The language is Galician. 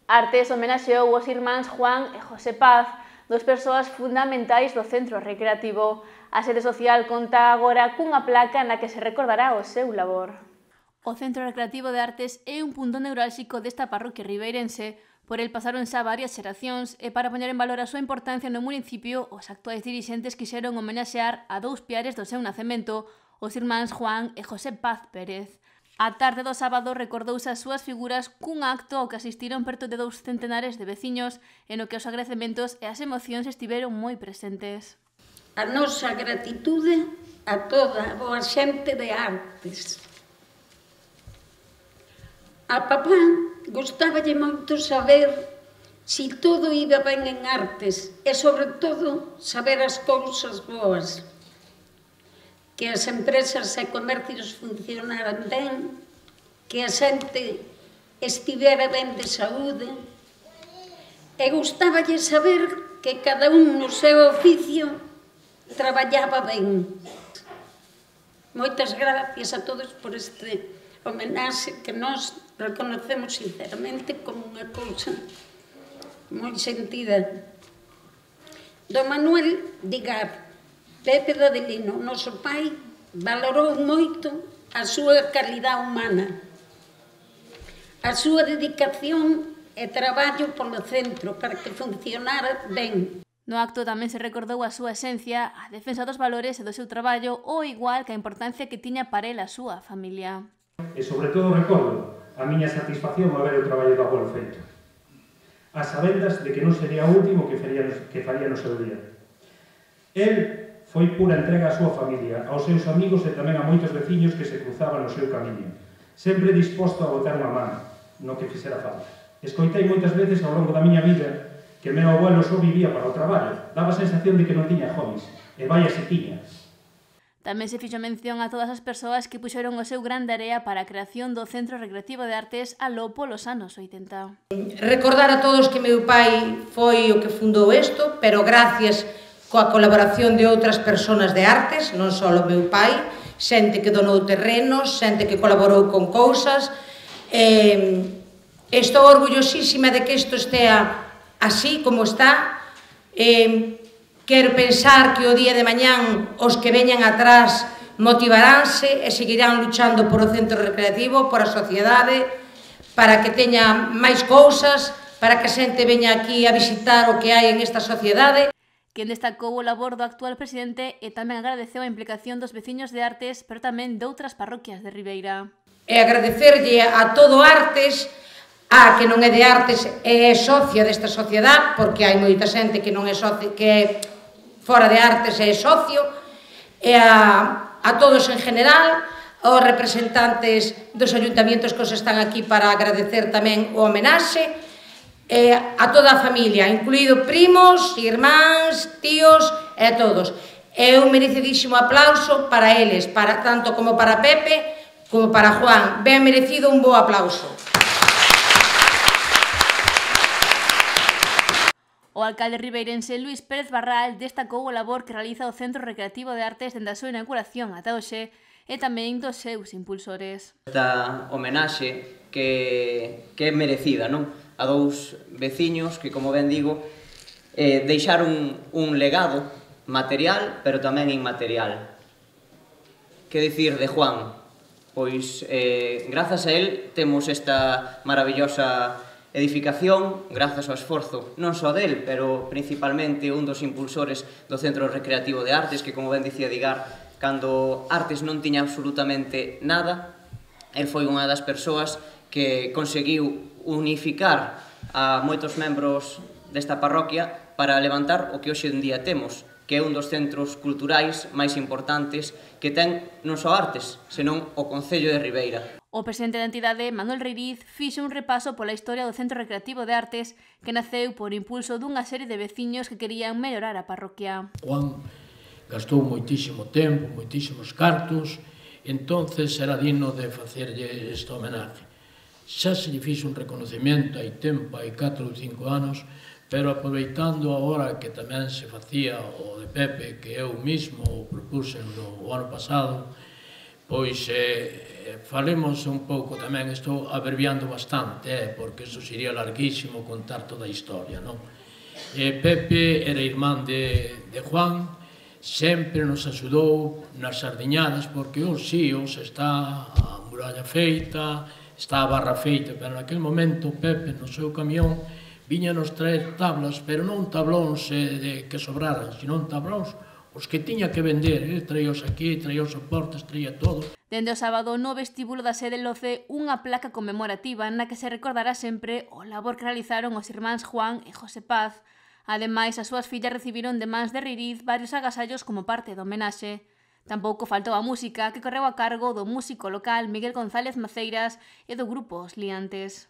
Artes homenaxeou os irmáns Juan e José Paz, dos persoas fundamentais do centro recreativo. A sede social conta agora cunha placa na que se recordará o seu labor. O Centro Recreativo de Artes é un punto neurálxico desta parroquia ribeirense. Por el pasaron xa varias xeracións e para poñer en valor a súa importancia no municipio, os actuais dirixentes quixeron homenaxear a dous piares do seu nacemento, os irmáns Juan e José Paz Pérez. A tarde do sábado recordouse as súas figuras cun acto ao que asistiron perto de 2 centenares de veciños e no que os agradecementos e as emocións estiveron moi presentes. A nosa gratitude a toda a boa xente de Artes. A papá gustáballe moito saber si todo iba ben en Artes e, sobre todo, saber as cousas boas. Que as empresas e comercios funcionaran ben, que a xente estivera ben de saúde, e gustáballe saber que cada un no seu oficio traballaba ben. Moitas gracias a todos por este homenaxe que nós reconocemos sinceramente como unha cousa moi sentida. Do Manuel Digar, Pepe Dadelino, noso pai, valorou moito a súa calidad humana, a súa dedicación e traballo polo centro para que funcionara ben. No acto tamén se recordou a súa esencia, a defensa dos valores e do seu traballo, ou igual que a importancia que tiña para el a súa familia. E sobre todo recordo a miña satisfacción ao ver o traballo do avolo feito, as sabendas de que non sería o último que faría no seu día. El foi pura entrega á súa familia, aos seus amigos e tamén a moitos veciños que se cruzaban no seu camiño, sempre disposto a botar unha man no que fixera falta. Escoitei moitas veces ao longo da miña vida que meu abuelo só vivía para o traballo, daba a sensación de que non tiña hobbies, e vaya se tiña. Tamén se fixo mención a todas as persoas que puxeron o seu gran area para a creación do Centro Recreativo de Artes aló polos anos 80. Recordar a todos que meu pai foi o que fundou isto, pero gracias coa colaboración de outras persoas de Artes, non só o meu pai, xente que donou terrenos, xente que colaborou con cousas. Estou orgullosísima de que isto estea así como está. Quero pensar que o día de mañán os que veñan atrás motivaránse e seguirán luchando por o centro recreativo, por a sociedade, para que teña máis cousas, para que a xente veña aquí a visitar o que hai en esta sociedade. Quen destacou o labor do actual presidente e tamén agradeceu a implicación dos veciños de Artes, pero tamén de outras parroquias de Ribeira. E agradecerlle a todo Artes, a que non é de Artes é socia desta sociedade, porque hai moita xente que non é socia, que fora de Artes é socio, e a todos en general, aos representantes dos ayuntamientos que os están aquí para agradecer tamén o homenaxe, a toda a familia, incluído primos, irmáns, tíos e a todos. É un merecidísimo aplauso para eles, tanto como para Pepe como para Juan. Ben merecido un bo aplauso. O alcalde ribeirense Luís Pérez Barral destacou o labor que realiza o Centro Recreativo de Artes dende a súa inauguración ata hoxe e tamén dos seus impulsores. Esta homenaxe que é merecida, non? A dous veciños que, como ben digo, deixaron un legado material, pero tamén inmaterial. Que dicir de Juan? Pois, grazas a él, temos esta maravillosa edificación, grazas ao esforzo non só del, pero principalmente un dos impulsores do Centro Recreativo de Artes, que, como ben dicía Digar, cando Artes non tiña absolutamente nada, el foi unha das persoas que conseguiu unificar a moitos membros desta parroquia para levantar o que hoxe en día temos, que é un dos centros culturais máis importantes que ten non só Artes, senón o Concello de Ribeira. O presidente da entidade, Manuel Reiriz, fixo un repaso pola historia do Centro Recreativo de Artes que naceu por impulso dunha serie de veciños que querían mellorar a parroquia. Juan gastou moitísimo tempo, moitísimos cartos, entonces era digno de facerlle esta homenaxe. Xa se lle fixo un reconocimiento hai tempo, hai 4 ou 5 anos, pero aproveitando agora que tamén se facía o de Pepe, que eu mismo o propuse o ano pasado, Pois falemos un pouco tamén, estou abreviando bastante, porque iso sería larguísimo contar toda a historia, non? Pepe era irmán de Juan, sempre nos axudou nas sardiñadas, porque os síos está a muralla feita, está a barra feita, pero naquele momento Pepe no seu camión viña nos traer tablas, pero non tablóns que sobraran, sino tablóns os que tiña que vender, traíos aquí, traíos soportes, traía todo. Dende o sábado, no vestíbulo da sede loce unha placa conmemorativa na que se recordará sempre o labor que realizaron os irmáns Juan e José Paz. Ademais, as súas fillas recibiron de mans de Ririz varios agasallos como parte do homenaxe. Tampouco faltou a música, que correu a cargo do músico local Miguel González Maceiras e do grupo Os Liantes.